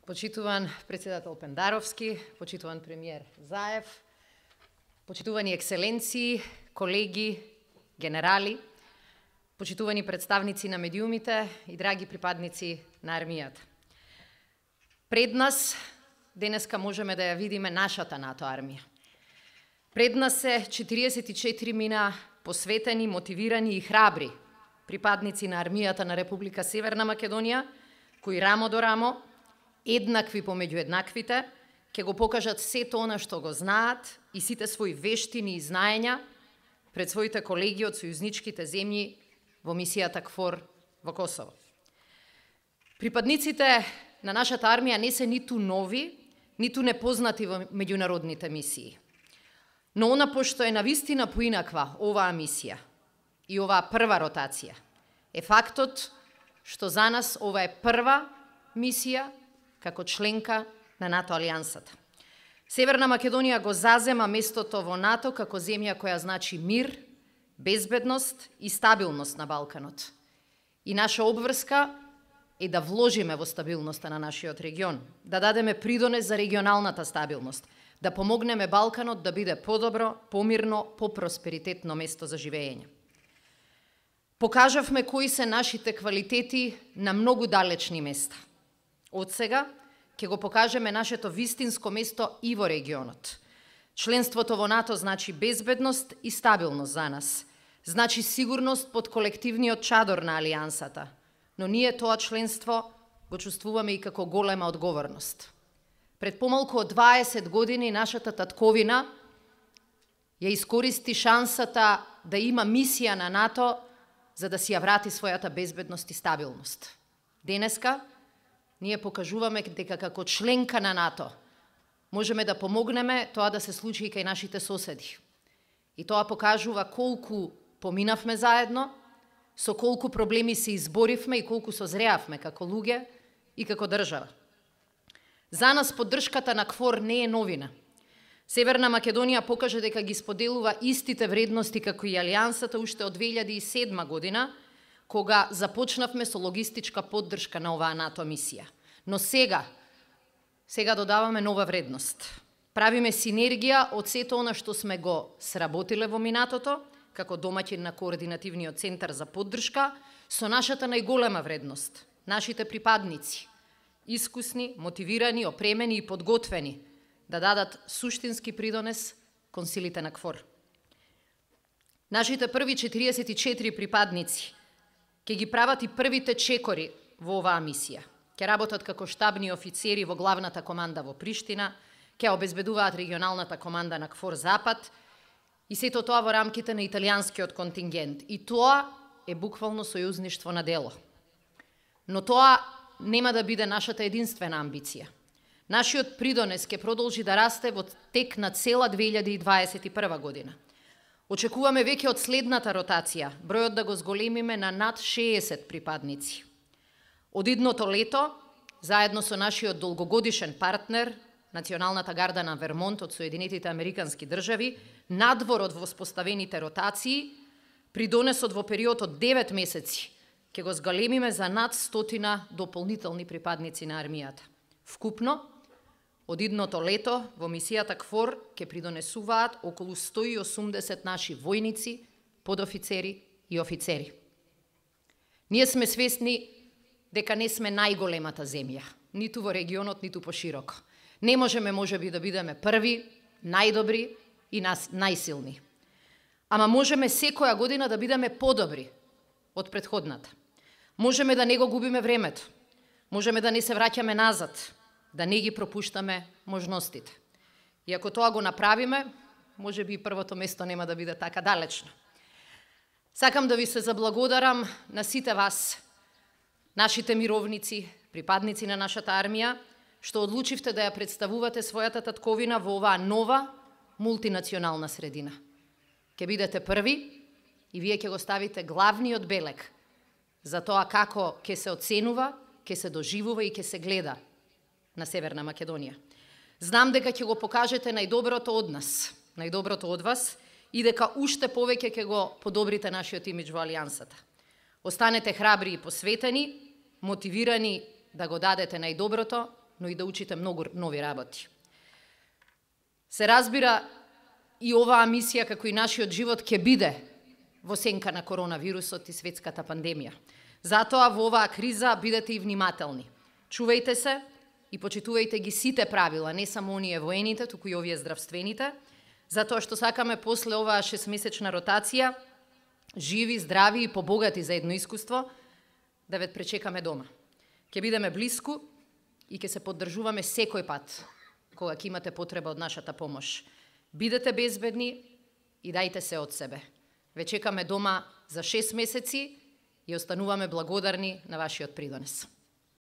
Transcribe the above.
Почитуван председател Пендаровски, почитуван премиер Заев, почитувани екселенции, колеги, генерали, почитувани представници на медиумите и драги припадници на армијата. Пред нас денеска можеме да ја видиме нашата НАТО армија. Пред нас се 44 мина посветени, мотивирани и храбри припадници на армијата на Република Северна Македонија, кои рамо до рамо, еднакви помеѓу еднаквите, ќе го покажат сето она што го знаат и сите своји вештини и знаења пред своите колеги од сојузничките земји во мисијата КФОР во Косово. Припадниците на нашата армија не се ниту нови, ниту непознати во меѓународните мисии. Но она пошто е навистина поинаква оваа мисија и оваа прва ротација, е фактот што за нас ова е прва мисија како членка на НАТО алијансата. Северна Македонија го зазема местото во НАТО како земја која значи мир, безбедност и стабилност на Балканот. И наша обврска е да вложиме во стабилноста на нашиот регион, да дадеме придонес за регионалната стабилност, да помогнеме Балканот да биде подобро, помирно, попросперитетно место за живење. Покажавме кои се нашите квалитети на многу далечни места. Од сега ќе го покажеме нашето вистинско место и во регионот. Членството во НАТО значи безбедност и стабилност за нас. Значи сигурност под колективниот чадор на алијансата. Но ние тоа членство го чувствуваме и како голема одговорност. Пред помалку од 20 години нашата татковина ја искористи шансата да има мисија на НАТО за да си ја врати својата безбедност и стабилност. Денеска ние покажуваме дека како членка на НАТО можеме да помогнеме тоа да се случи и кај нашите соседи. И тоа покажува колку поминавме заедно, со колку проблеми се изборивме и колку созреавме како луѓе и како држава. За нас поддршката на КФОР не е новина. Северна Македонија покажа дека ги споделува истите вредности како и алијансата уште од 2007 година, кога започнавме со логистичка поддршка на оваа НАТО мисија. Но сега додаваме нова вредност. Правиме синергија од сето она што сме го сработиле во минатото, како домаќин на Координативниот центар за поддршка, со нашата најголема вредност, нашите припадници, искусни, мотивирани, опремени и подготвени, да дадат суштински придонес кон силите на КФОР. Нашите први 44 припадници ќе ги прават и првите чекори во оваа мисија. Ќе работат како штабни офицери во главната команда во Приштина, ќе обезбедуваат регионалната команда на КФОР Запад и сето тоа во рамките на италијанскиот контингент. И тоа е буквално сојузништво на дело. Но тоа нема да биде нашата единствена амбиција. Нашиот придонес ќе продолжи да расте во тек на цела 2021 година. Очекуваме веќе од следната ротација бројот да го зголемиме на над 60 припадници. Од идното лето, заедно со нашиот долгогодишен партнер, Националната гарда на Вермонт од Соединетите Американски држави, надвор од воспоставените ротации, придонесот во период од 9 месеци ќе го зголемиме за над 100 дополнителни припадници на армијата. Вкупно, од идното лето во мисијата КФОР ќе придонесуваат околу 180 наши војници, подофицери и офицери. Ние сме свесни дека не сме најголемата земја, ниту во регионот, ниту пошироко. Не можеме можеби да бидеме први, најдобри и најсилни. Ама можеме секоја година да бидеме подобри од претходната. Можеме да не го губиме времето. Можеме да не се враќаме назад, да не ги пропуштаме можностите. И ако тоа го направиме, можеби и првото место нема да биде така далечно. Сакам да ви се заблагодарам на сите вас, нашите мировници, припадници на нашата армија, што одлучивте да ја представувате својата татковина во оваа нова мултинационална средина. Ќе бидете први и вие ќе го ставите главниот белег за тоа како ќе се оценува, ќе се доживува и ќе се гледа на Северна Македонија. Знам дека ќе го покажете најдоброто од нас, најдоброто од вас и дека уште повеќе ќе го подобрите нашиот имидж во алијансата. Останете храбри и посветени, мотивирани да го дадете најдоброто но и да учите многу нови работи. Се разбира, и оваа мисија, како и нашиот живот, ќе биде во сенка на коронавирусот и светската пандемија. Затоа во оваа криза бидете и внимателни. Чувајте се и почитувајте ги сите правила, не само оние воените, туку и овие здравствените, затоа што сакаме после оваа 6-месечна ротација, живи, здрави и побогати за едно искуство, да ве пречекаме дома. Ќе бидеме блиску и ќе се поддржуваме секој пат, кога ќе имате потреба од нашата помош. Бидете безбедни и дајте се од себе. Ве чекаме дома за 6 месеци и остануваме благодарни на вашиот придонес.